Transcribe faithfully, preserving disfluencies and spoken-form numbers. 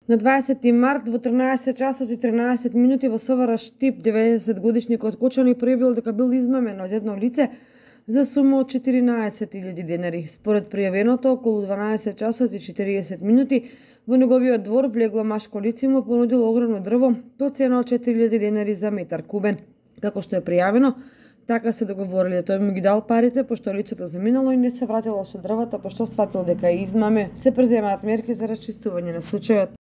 На дваесети март во тринаесет часот и тринаесет минути во СВР Штип деветдесет годишникот Кочани пројавил дека бил измамен од едно лице за сума од четиринаесет илјади денари. Според пријавеното, околу дванаесет часот и четириесет минути во неговиот двор влегло машко лице и му понудило огромно дрво по цена од четири илјади денари за метар кубен. Како што е пријавено, така се договориле. Тој му ги дал парите, пошто лицето заминало и не се вратило со дрвата, пошто сватил дека е измаме. Се преземаат мерки за расчистување на случајот.